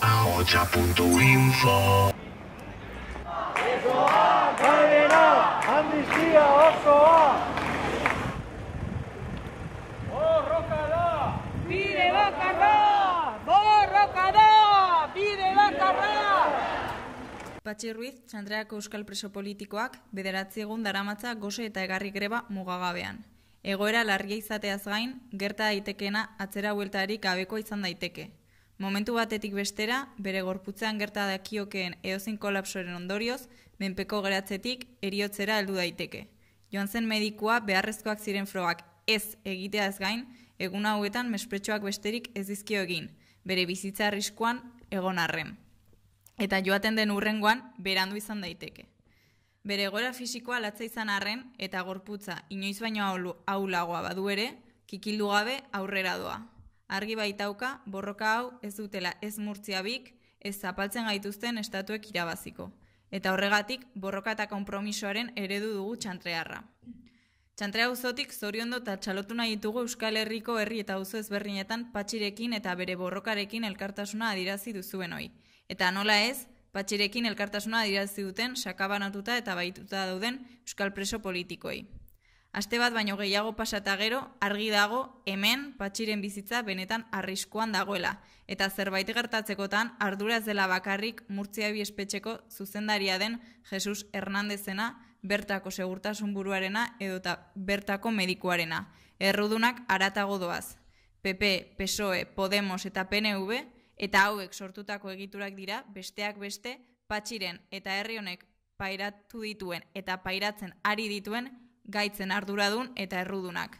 Ahotsa.info Gainera, amnistia osoa! Borroka da! Bide bakarra! Borroka da! Bide bakarra! Patxi Ruiz, Txantreako euskal preso politikoak, 9 egun daramatza gose eta egarri greba mugagabean. Egoera larria izateaz gain, gerta daitekeena atzera bueltarik gabekoa izan daiteke. Momentu batetik bestera, bere gorputzean gerta dakiokeen edozein kolapsoren ondorioz, menpeko geratzetik heriotzera heldu daiteke. Joan zen medikua beharrezkoak ziren frogak ez egiteaz gain, egun hauetan mespretxoak besterik ez dizkio egin, bere bizitza arriskuan egon arren. Eta joaten den hurrengoan berandu izan daiteke. Bere egoera fisikoa latza izan arren eta gorputza inoiz baino ahulagoa badu ere, kikildu gabe aurrera doa. Argi baitauka, borroka hau ez dutela ez murtziabik, ez zapaltzen gaituzten estatuek irabaziko. Eta horregatik, borroka eta konpromisoaren eredu dugu Txantrearra. Txantre auzotik zoriondo eta txalotu nahi ditugu Euskal Herriko herri eta auzo ezberdinetan Patxirekin eta bere borrokarekin elkartasuna adirazi duzuen hoi. Eta nola ez, Patxirekin elkartasuna adirazi duten sakabanatuta eta baituta dauden euskal preso politikoei. Aste bat baino gehiago pasata gero, argi dago hemen Patxiren bizitza benetan arriskuan dagoela, eta zerbait gertatzekotan ardura ez dela bakarrik Murtziabi espetxeko zuzendaria den Jesus Hernandezena, bertako segurtasun buruarena edota bertako medikuarena. Errudunak haratago doaz. PP, PSOE, Podemos eta PNV, eta hauek sortutako egiturak dira, besteak beste, Patxiren eta herri honek pairatu dituen eta pairatzen ari dituen gaitzen arduradun eta errudunak.